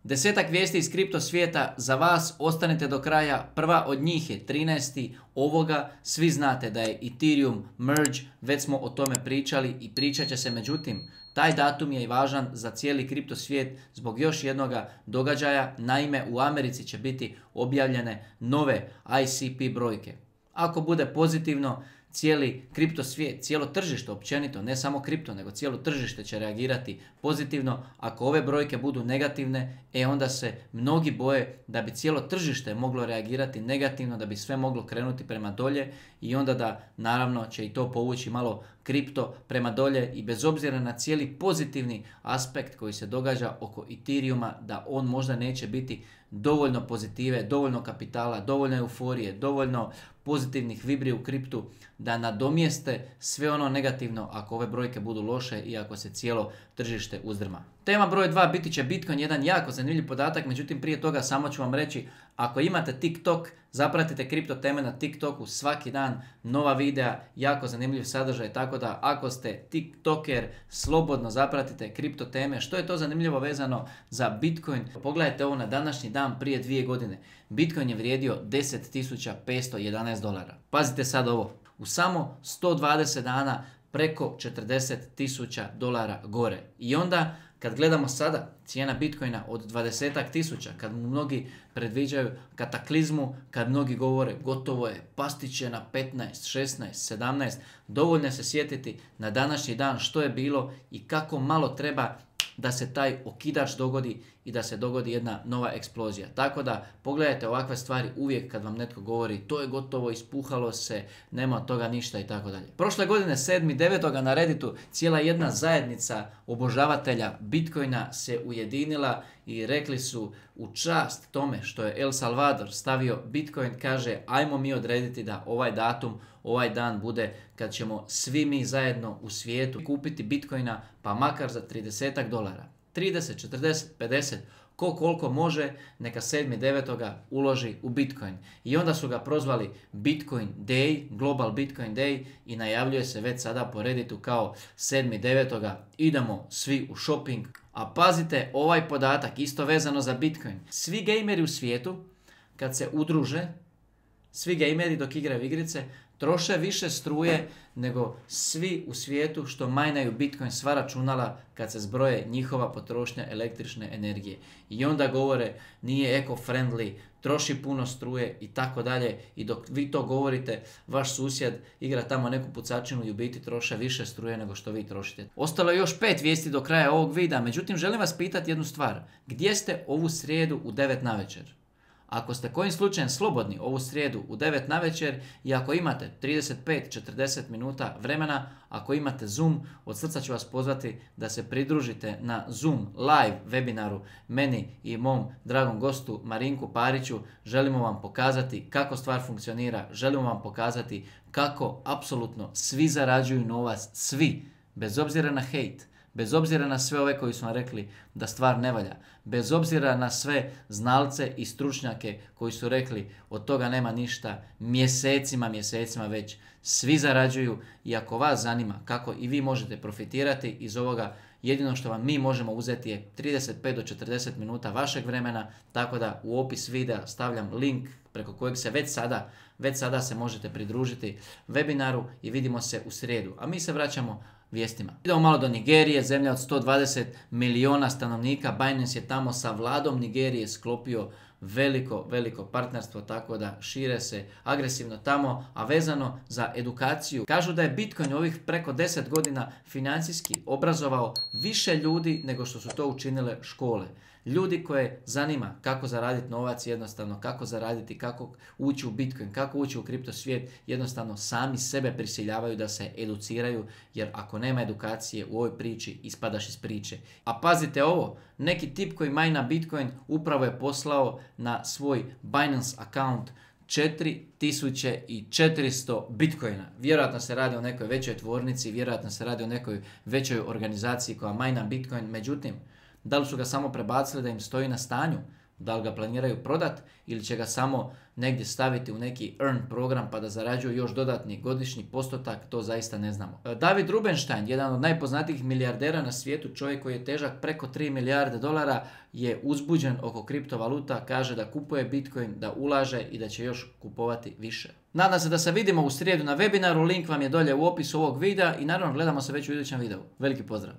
10 vijesti iz kripto svijeta za vas, ostanite do kraja. Prva od njih je 13. ovoga. Svi znate da je Ethereum merge, već smo o tome pričali i pričat će se, međutim, taj datum je i važan za cijeli kripto svijet zbog još jednog događaja. Naime, u Americi će biti objavljene nove ICP brojke. Ako bude pozitivno, cijeli kripto svijet, cijelo tržište općenito, ne samo kripto, nego cijelo tržište će reagirati pozitivno. Ako ove brojke budu negativne, onda se mnogi boje da bi cijelo tržište moglo reagirati negativno, da bi sve moglo krenuti prema dolje i onda da naravno će i to povući malo kripto prema dolje i bez obzira na cijeli pozitivni aspekt koji se događa oko Ethereuma, da on možda neće biti dovoljno pozitive, dovoljno kapitala, dovoljno euforije, dovoljno pozitivnih vibri u kriptu da nadomjeste sve ono negativno ako ove brojke budu loše i ako se cijelo tržište uzdrma. Tema broj 2 biti će Bitcoin, jedan jako zanimljiv podatak, međutim prije toga samo ću vam reći, ako imate TikTok, zapratite kripto teme na TikToku, svaki dan nova videa, jako zanimljiv sadržaj, tako da ako ste TikToker, slobodno zapratite kripto teme. Što je to zanimljivo vezano za Bitcoin? Pogledajte ovo na današnji dan prije 2 godine. Bitcoin je vrijedio $10.511. Pazite sad ovo, u samo 120 dana preko $40.000 gore. I onda kad gledamo sada cijena Bitcoina od 20.000, kad mnogi predviđaju kataklizmu, kad mnogi govore gotovo je, pasti će na 15, 16, 17, dovoljno se sjetiti na današnji dan što je bilo i kako malo treba da se taj okidač dogodi i da se dogodi jedna nova eksplozija. Tako da pogledajte ovakve stvari uvijek kad vam netko govori to je gotovo, ispuhalo se, nema od toga ništa i tako dalje. Prošle godine 7.9. na Redditu cijela jedna zajednica obožavatelja Bitcoina se ujedinila i rekli su u čast tome što je El Salvador stavio Bitcoin, kaže ajmo mi odrediti da ovaj datum, ovaj dan bude kad ćemo svi mi zajedno u svijetu kupiti Bitcoina pa makar za $30. 30, 40, 50, ko koliko može, neka 7.9. uloži u Bitcoin. I onda su ga prozvali Bitcoin Day, Global Bitcoin Day i najavljuje se već sada po Redditu kao 7.9. idemo svi u shopping. A pazite ovaj podatak, isto vezano za Bitcoin. Svi gejmeri u svijetu, kad se udruže, svi gejmeri dok igraju igrice, troše više struje nego svi u svijetu što majnaju Bitcoin, sva računala kad se zbroje njihova potrošnja električne energije. I onda govore nije eco-friendly, troši puno struje i tako dalje. I dok vi to govorite, vaš susjed igra tamo neku pucačinu i u biti troše više struje nego što vi trošite. Ostalo je još 5 vijesti do kraja ovog videa, međutim želim vas pitati jednu stvar. Gdje ste ovu srijedu u 9 navečer? Ako ste kojim slučajem slobodni ovu srijedu u 9 navečer i ako imate 35-40 minuta vremena, ako imate Zoom, od srca ću vas pozvati da se pridružite na Zoom live webinaru meni i mom dragom gostu Marinku Pariću. Želimo vam pokazati kako stvar funkcionira, želimo vam pokazati kako apsolutno svi zarađuju novac, svi, bez obzira na hejt. Bez obzira na sve ove koji su vam rekli da stvar ne valja, bez obzira na sve znalce i stručnjake koji su rekli od toga nema ništa, mjesecima već, svi zarađuju i ako vas zanima kako i vi možete profitirati iz ovoga, jedino što vam mi možemo uzeti je 35 do 40 minuta vašeg vremena, tako da u opis videa stavljam link preko kojeg se već sada se možete pridružiti webinaru i vidimo se u srijedu. A mi se vraćamo vijestima. Idemo malo do Nigerije, zemlja od 120 milijuna stanovnika. Binance je tamo sa vladom Nigerije sklopio veliko partnerstvo, tako da šire se agresivno tamo, a vezano za edukaciju. Kažu da je Bitcoin ovih preko 10 godina financijski obrazovao više ljudi nego što su to učinile škole. Ljudi koje zanima kako zaraditi novac, jednostavno kako zaraditi, kako ući u Bitcoin, kako ući u kripto svijet, jednostavno sami sebe prisiljavaju da se educiraju, jer ako nema edukacije u ovoj priči, ispadaš iz priče. A pazite ovo, neki tip koji majna Bitcoin upravo je poslao na svoj Binance account 4400 Bitcoina. Vjerojatno se radi o nekoj većoj tvornici, vjerojatno se radi o nekoj većoj organizaciji koja majna Bitcoin, međutim, da li su ga samo prebacili da im stoji na stanju? Da li ga planiraju prodat ili će ga samo negdje staviti u neki earn program pa da zarađuju još dodatni godišnji postotak, to zaista ne znamo. David Rubenstein, jedan od najpoznatijih milijardera na svijetu, čovjek koji je težak preko 3 milijarde dolara, je uzbuđen oko kriptovaluta, kaže da kupuje Bitcoin, da ulaže i da će još kupovati više. Nadam se da se vidimo u srijedu na webinaru, link vam je dolje u opisu ovog videa i naravno gledamo se već u idućem videu. Veliki pozdrav!